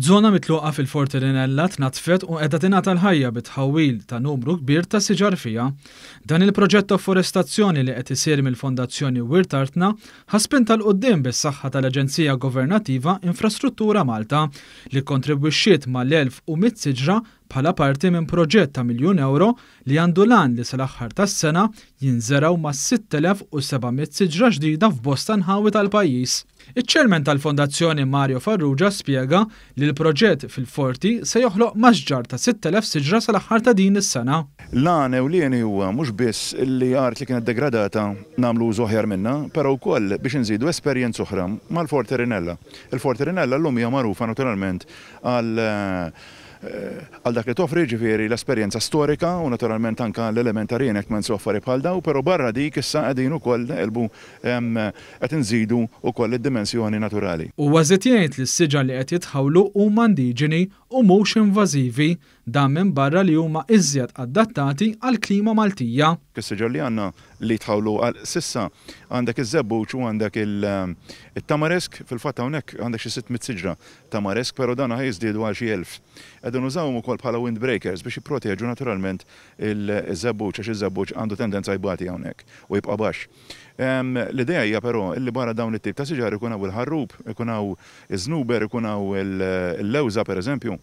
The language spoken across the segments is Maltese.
Żona mitluqa fil-Forti Rinella tnaddfet u qiegħda tingħata l-ħajja bit-tħawwil ta' numru kbir ta' siġar fiha. Dan il-proġett ta' forestazzjoni li qed isir mill-Fondazzjoni Wirt Artna ħa spinta 'l quddiem bis-saħħa tal-aġenzija governattiva Infrastruttura Malta li kkontribwixxiet mal-1,100 siġra bħala parti minn proġett ta' miljun ewro li għandu l-għan li sal-aħħar tas-sena jinżergħu mas-6,700 siġra ġdida f'bosta nħawi tal-pajjiż. Iċ-Chairman tal-Fondazzjoni Mario Farrugia spjega li l-proġett fil-Forti se joħloq masġar ta' 6,000 siġra sal-aħħar ta' din is-sena. L-għan ewlieni huwa mhux biss li art li kienet degradata nagħmlu użu aħjar minnha, però wkoll biex inżidu esperjenza oħra mal-Forti Rinella. Il-Forti Rinella llum hija magħrufa naturalment għal għal dak li toffri, jiġifieri l-esperjenza storika u naturalment anke l-element ta' reenactments u affarijiet bħal dawn, però barra dik issa qegħdin ukoll neqilbu qed inżidu wkoll id-dimensjoni naturali. Huwa żied jgħid li s-siġar li qed jitħawlu huma indiġeni u mhux invażivi, dan minbarra li huma iżjed adattati għall-klima Maltija. Is-siġar li għandna li jitħawlu għal s'issa għandek iż-żebbuġ u għandek it-tamarisk, fil-fatt hawnhekk għandek xi 600 siġra Tamarisk, però dan ħa jiżdiedu għal xi 1000. Qegħdin nużawhom ukoll bħala windbreakers biex jipproteġu naturalment iż-żebbuġ għax iż-żebbuġ għandu tendenza jbati hawnhekk u jibqa' baxx. L-idea hija però illi barra dawn it-tip ta' siġar ikun hawn il-ħarrub, ikun hawn iż-żnuber, ikun hawn il-lewża pereżempju,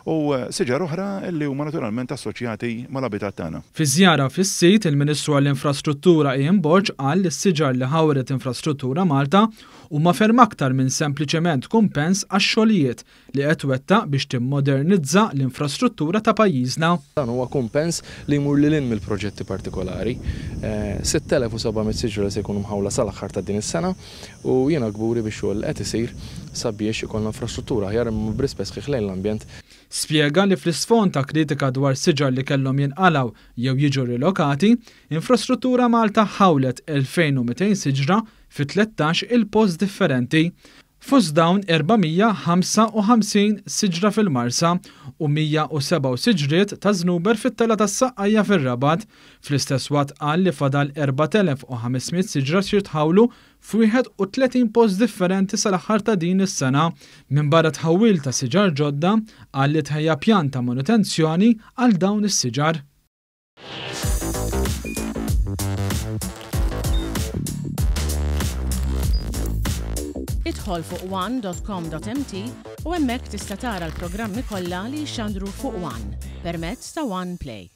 u siġar oħra illi huma naturalment assoċjati mal-abitat tagħna. Fi żjara fis-sit, il-Ministru għall-Infrastruttura Ian Borg qal li s-siġar li ħawret Infrastruttura Malta huma ferm aktar minn sempliċement kumpens għax-xogħlijiet li qed twettaq biex timmodernizza l-infrastruttura ta' pajjiżna. Dan huwa kumpens li jmur lil hinn mill-proġetti partikolari. 6,700 siġra li se jkunu mħawla sal-aħħar ta' din is-sena u jiena kburi bix-xogħol li qed isir sabiex ikollna infrastruttura aħjar imma b'rispett sħiħ lejn l-ambjent. Spjega li fl-isfond ta' kritika dwar siġar li kellhom jinqalgħu jew jiġu rilokati, Infrastruttura Malta ħawlet 2,200 siġra fi 13 il-post differenti. Fost dawn 455 siġra fil-Marsa u 107 siġriet ta' żnuber fit-Telgħa tas-Saqqajja fir-Rabat. Fl-istess waqt qal li fadal 4,500 siġra x'jitħawlu f'31 post differenti sal-aħħar ta' din is-sena. Minbarra tħawwil ta' siġar ġodda, qal li tħejja pjan ta' manutenzjoni għal dawn is-siġar. Idħol fuq one.com.mt u hemmhekk tista' tara l-programmi kollha li jixxandru fuq One permezz ta' One Play.